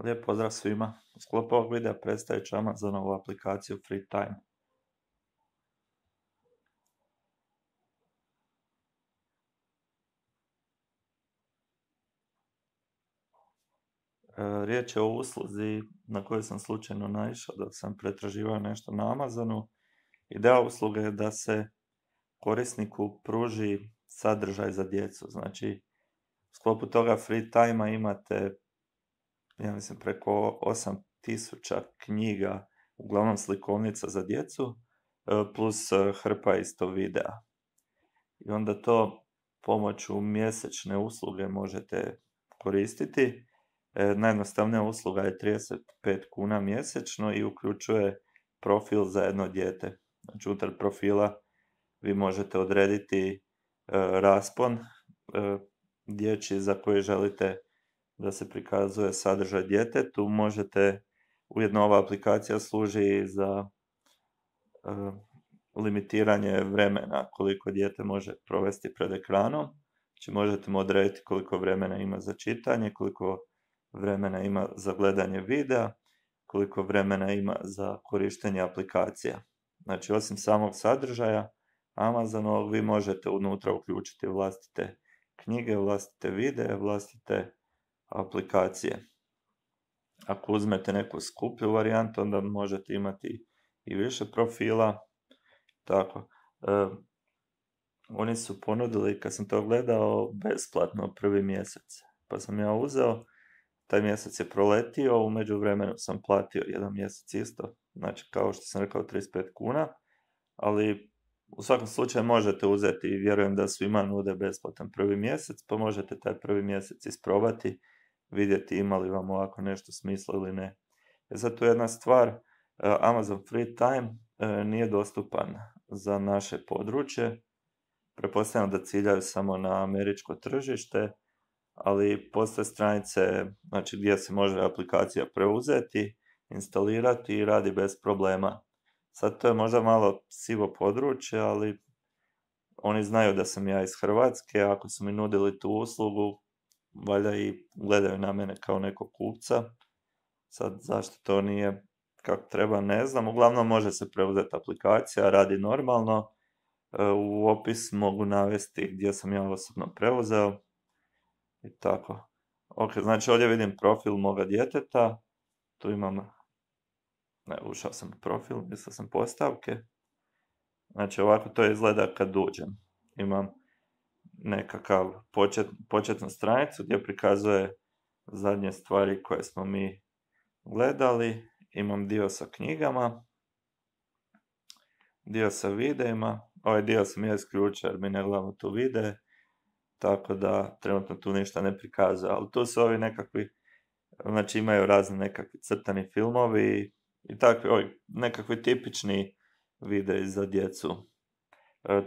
Lijep pozdrav svima. U sklopu ovog videa predstavit ću Amazonovu aplikaciju FreeTime. Riječ je o usluzi na koju sam slučajno naišao dok sam pretraživao nešto na Amazonu. Ideja usluge je da se korisniku pruži sadržaj za djecu. Znači, u sklopu toga FreeTime-a imate, ja mislim, preko 8000 knjiga, uglavnom slikovnica za djecu, plus hrpa isto videa. I onda to pomoću mjesečne usluge možete koristiti. Najjednostavnija usluga je 35 kuna mjesečno i uključuje profil za jedno dijete. Znači, unutar profila vi možete odrediti raspon dječji za koji želite da se prikazuje sadržaj djetetu. Možete, ujedno ova aplikacija služi za limitiranje vremena koliko dijete može provesti pred ekranom. Znači, možete mu odrediti koliko vremena ima za čitanje, koliko vremena ima za gledanje videa, koliko vremena ima za korištenje aplikacija. Znači, osim samog sadržaja Amazonovog, vi možete unutra uključiti vlastite knjige, vlastite videe, vlastite aplikacije. Ako uzmete neku skuplju varijantu, onda možete imati i više profila. Tako. Oni su ponudili, kad sam to gledao, besplatno prvi mjesec. Pa sam ja uzeo, taj mjesec je proletio, u međuvremenu sam platio jedan mjesec isto. Znači, kao što sam rekao, 35 kuna. Ali u svakom slučaju možete uzeti i vjerujem da svima nude besplatan prvi mjesec, pa možete taj prvi mjesec isprobati, vidjeti ima li vam ovako nešto smisla ili ne. Sad tu jedna stvar, Amazon FreeTime nije dostupan za naše područje. Pretpostavljam da ciljaju samo na američko tržište, ali postoje stranice, znači, gdje se može aplikacija preuzeti, instalirati i radi bez problema. Sad to je možda malo sivo područje, ali oni znaju da sam ja iz Hrvatske, ako su mi nudili tu uslugu, valjda i gledaju na mene kao nekog kupca. Sad zašto to nije kako treba, ne znam. Uglavnom može se preuzeti aplikacija, radi normalno. U opis mogu navesti gdje sam ja osobno preuzeo. I tako. Ok, znači ovdje vidim profil moga djeteta. Tu imam, ušao sam u profil, mislio sam postavke. Znači ovako to izgleda kad uđem. Imam nekakav početnu stranicu gdje prikazuje zadnje stvari koje smo mi gledali. Imam dio sa knjigama, dio sa videima. Ovaj dio sam ja isključio jer mi ne gledamo tu videe, tako da trenutno tu ništa ne prikazuje. Ali tu su ovi nekakvi, znači imaju razni nekakvi crtani filmovi i takvi, nekakvi tipični videi za djecu.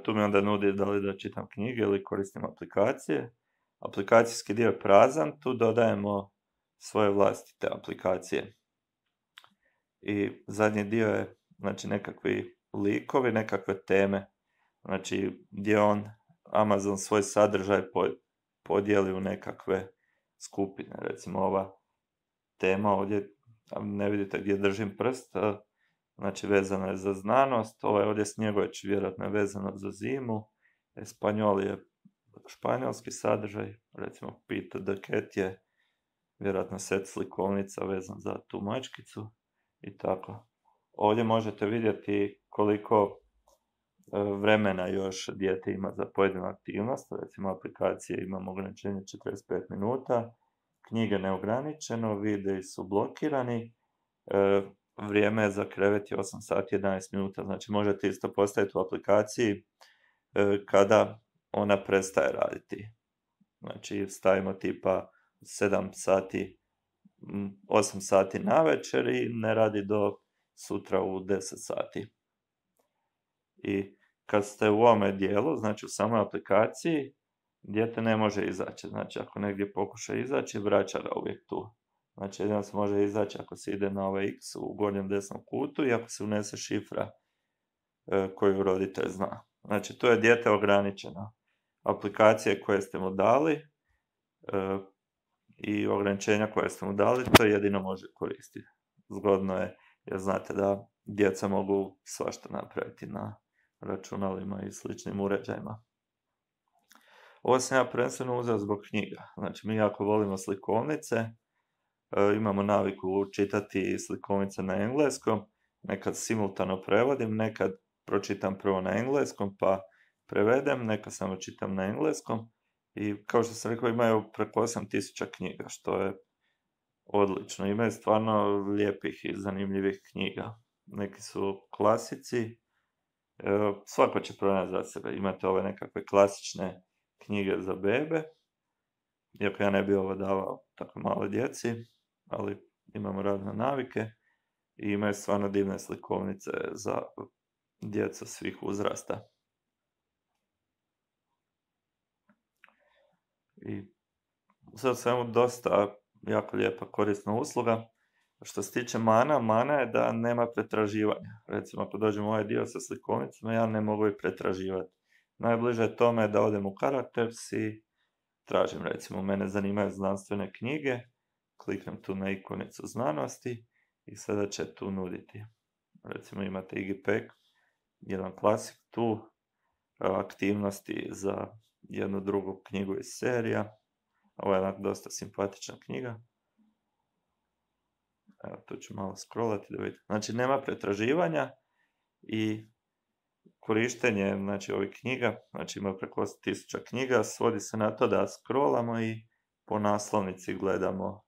Tu mi onda nudi da li da čitam knjige ili koristim aplikacije. Aplikacijski dio je prazan, tu dodajemo svoje vlastite aplikacije. I zadnji dio je, znači, nekakvi likovi, nekakve teme. Znači, gdje Amazon svoj sadržaj podijeli u nekakve skupine. Recimo, ova tema ovdje, ne vidite gdje držim prst, znači vezana je za znanost. Ovaj ovdje Snjegović vjerojatno je vezano za zimu. Espanjol je španjolski sadržaj. Recimo, Peter the Cat je vjerojatno set slikovnica vezan za tu mačkicu. I tako. Ovdje možete vidjeti koliko vremena još dijete ima za pojedinu aktivnost. Recimo, aplikacije imamo ograničenje 45 minuta, knjige neograničeno, videi su blokirani, vrijeme za krevet je 8 sati 11 minuta. Znači, možete isto postaviti u aplikaciji kada ona prestaje raditi. Znači, stavimo tipa 7 sati, 8 sati na večer i ne radi do sutra u 10 sati. I kad ste u ovome dijelu, znači u samoj aplikaciji, dijete ne može izaći. Znači, ako negdje pokuša izaći, vraća ga uvijek tu. Znači, jedino se može izaći ako se ide na ovaj X u gornjem desnom kutu i ako se unese šifra koju roditelj zna. Znači, tu je dijete ograničeno. Aplikacije koje ste mu dali, i ograničenja koje ste mu dali, to jedino može koristiti. Zgodno je, jer znate da djeca mogu svašta napraviti na računalima i sličnim uređajima. Ovo sam ja prvenstveno uzeo zbog knjiga. Znači, mi jako volimo slikovnice, imamo naviku čitati slikovnice na engleskom, nekad simultano prevodim, nekad pročitam prvo na engleskom pa prevedem, nekad samo čitam na engleskom i kao što sam rekao imaju preko 8000 knjiga, što je odlično. Imaju stvarno lijepih i zanimljivih knjiga. Neki su klasici, svako će pronaći za sebe. Imate ove nekakve klasične knjige za bebe, iako ja ne bi ovo davao tako maloj djeci, ali imamo razne navike i imaju stvarno divne slikovnice za djecu svih uzrasta. I sad svemu dosta jako lijepa korisna usluga. Što se tiče mana je da nema pretraživanja. Recimo, ako dođem u ovaj dio sa slikovnicama, ja ne mogu ih pretraživati. Najbliže tome je da odem u Characters i tražim, recimo, mene zanimaju znanstvene knjige, kliknem tu na ikonicu znanosti i sada će tu nuditi. Recimo, imate IGPEC, jedan klasik tu, aktivnosti za jednu drugu knjigu iz serija. Ovo je jedna dosta simpatična knjiga. Evo, tu ću malo scrollati da vidite. Znači, nema pretraživanja i korištenje, znači, ovih knjiga, znači ima preko 8000 knjiga, svodi se na to da scrollamo i po naslovnici gledamo.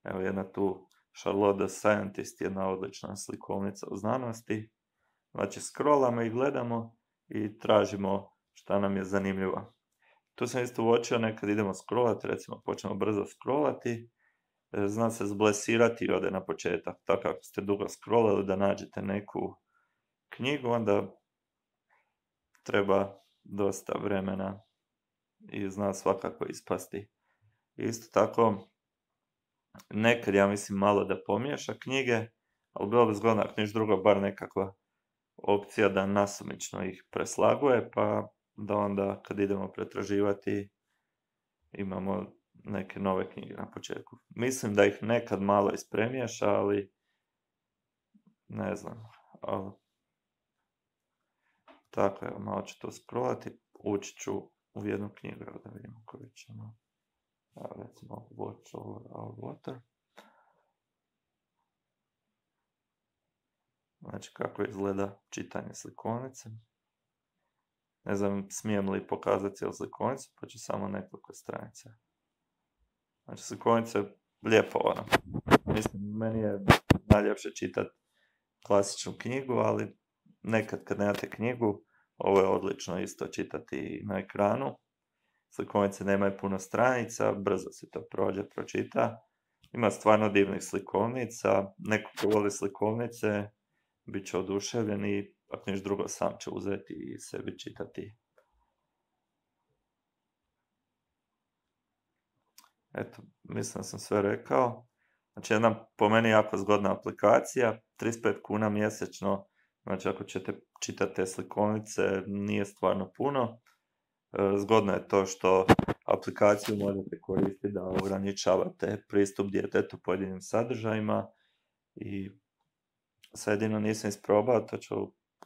Evo, jedna tu Charlotte the Scientist, jedna odlična slikovnica u znanosti. Znači, scrollamo i gledamo i tražimo šta nam je zanimljivo. Tu sam isto uočio, nekad idemo scrollati, recimo počnemo brzo scrollati, zna se zblesirati i ode na početak. Tako ako ste dugo scrollali da nađete neku knjigu, onda treba dosta vremena i zna svakako ispasti. Isto tako, nekad ja mislim malo da pomiješa knjige, ali bilo bi zgodno ako niš drugo, bar nekakva opcija da nasumično ih preslaguje, pa da onda kad idemo pretraživati imamo neke nove knjige na početku. Mislim da ih nekad malo ispremiješa, ali ne znam. Ali tako je, malo ću to scrollati, ući ću u jednu knjigu da vidimo koju ćemo. Recimo Watch Over Our Water. Znači kako izgleda čitanje slikovnice. Ne znam smijem li pokazati cijelu slikovnicu, pa ću samo nekoliko stranica. Znači slikovnica je lijepo ona. Mislim, meni je najljepše čitati klasičnu knjigu, ali nekad kad nemate knjigu, ovo je odlično isto čitati na ekranu. Slikovnice nemaju puno stranica, brzo se to prođe, pročita. Ima stvarno divnih slikovnica. Neko ko voli slikovnice bit će oduševljen i ako niš drugo sam će uzeti i sebi čitati. Eto, mislim da sam sve rekao. Znači jedna po meni jako zgodna aplikacija, 35 kuna mjesečno, znači ako ćete čitati te slikovnice nije stvarno puno. Zgodno je to što aplikaciju možete koristiti da ograničavate pristup djetetu pojedinim sadržajima i sad jedino nisam isprobao, to ću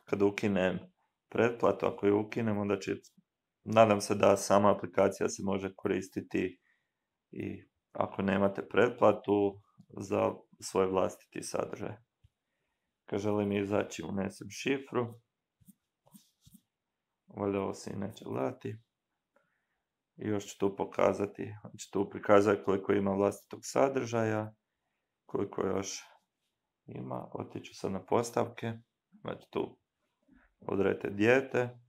kad ukinem pretplatu, ako ju ukinem onda će, nadam se da sama aplikacija se može koristiti i ako nemate pretplatu za svoj vlastiti sadržaj. Kad želim izaći unesem šifru, valjda ovo se i neće gledati. I još ću tu pokazati, znači tu prikazuje koliko ima vlastitog sadržaja, koliko još ima, otiću sad na postavke, znači tu odredite dijete,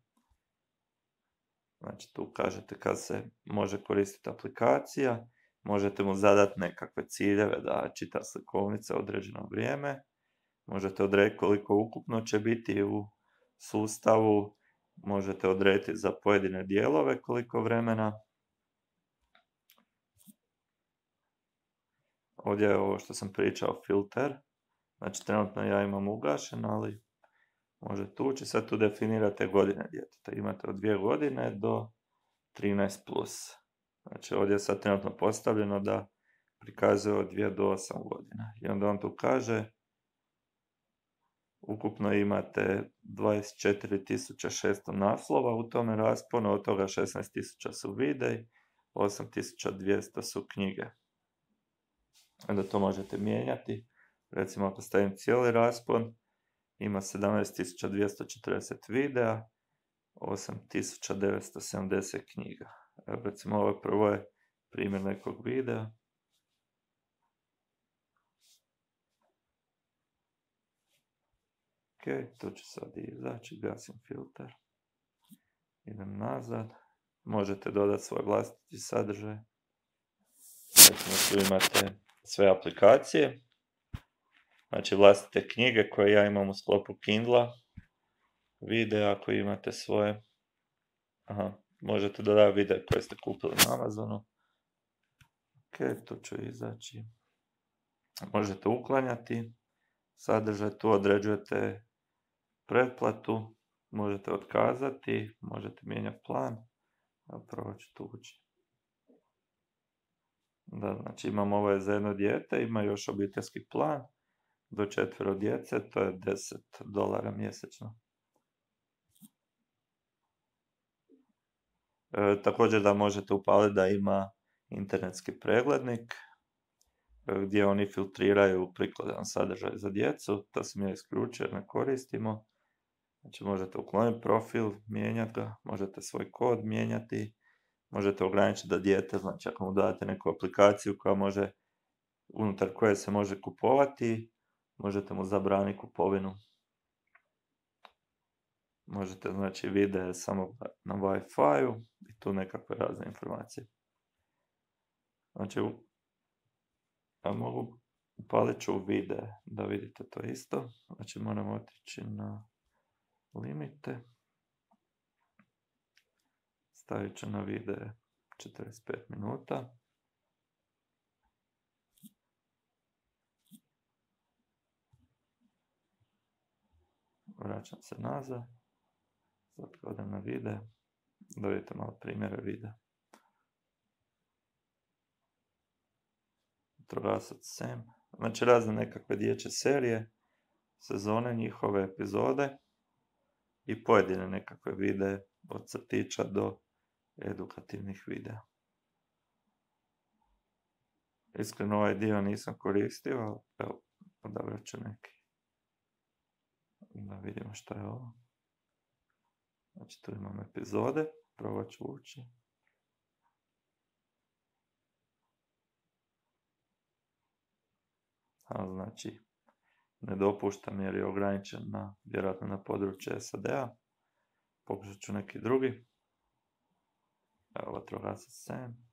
znači tu kažete kad se može koristiti aplikacija, možete mu zadati nekakve ciljeve da čita slikovnice određeno vrijeme, možete odrediti koliko ukupno će biti u sustavu, možete odrediti za pojedine dijelove koliko vremena. Ovdje je ovo što sam pričao, filter. Znači trenutno ja imam ugašen, ali možete ući. Sad tu definirate godine djeteta. Imate od 2 godine do 13+. Znači ovdje je sad trenutno postavljeno da prikazuje od 2 do 8 godina. I onda on tu kaže, ukupno imate 24.600 naslova u tome rasponu, od toga 16.000 su videi, 8.200 su knjige. Onda to možete mijenjati. Recimo ako stavim cijeli raspon, ima 17.240 videa, 8.970 knjiga. Evo, recimo ovo prvo je primjer nekog videa. Ok, tu ću sad izaći, gasim filter. Idem nazad. Možete dodati svoj vlastiti sadržaj. Recimo tu imate sve aplikacije. Znači vlastite knjige koje ja imam u sklopu Kindla. Videa ako imate svoje. Možete dodati videa koje ste kupili na Amazonu. Ok, tu ću izaći. Možete uklanjati sadržaj, tu određujete pretplatu, možete otkazati, možete mijenjati plan. Prvo ću tu ući. Da, znači imam ovo je za jedno dijete, ima još obiteljski plan do 4 djece, to je $10 mjesečno. Također da možete upaliti da ima internetski preglednik gdje oni filtriraju prikladan sadržaj za djecu, to sam ja isključio jer ne koristimo. Znači možete ukloniti profil, mijenjati ga, možete svoj kod mijenjati, možete ograničiti da dijete, znači ako mu date neku aplikaciju koja može, unutar koje se može kupovati, možete mu zabraniti kupovinu. Možete, znači, videe samo na Wi-Fi-u i tu nekakve razne informacije. Znači, upalit ću videe da vidite to isto. Znači, moramo otići na limite. Stavit ću na videe 45 minuta. Vraćam se nazad. Sad odem na videe. Da vidite malo primjere videa. Vatrogasac Sam. Znači razne nekakve dječje serije, sezone, njihove epizode i pojedine nekakve videe od crtića do edukativnih videa. Iskreno ovaj dio nisam koristio, ali evo, odabrat ću neki. Da vidimo što je ovo. Znači tu imam epizode, probat ću ući. Znači, ne dopuštam jer je ograničen vjerojatno na područje SAD-a. Pokušat ću neki drugi. Evo, vatrogasac Sam.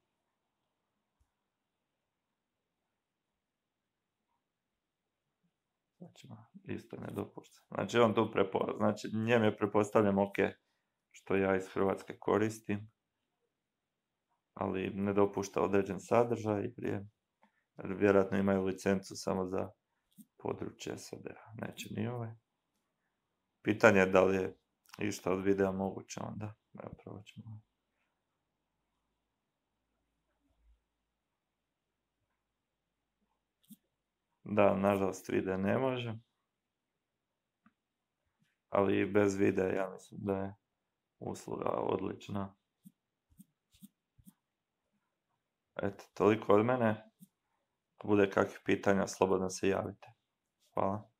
Znači, isto ne dopuštam. Znači, on tu znači, njem je prepostavljam ok, što ja iz Hrvatske koristim, ali ne dopušta određen sadržaj jer vjerojatno imaju licencu samo za područje SAD-a. Neće ni ovaj. Pitanje je da li je išta od videa moguće onda. Evo, probat ćemo. Da, nažalost videa ne može. Ali bez videa ja mislim da je usluga odlična. Eto, toliko od mene. Ako bude kakvih pitanja, slobodno se javite. Hvala.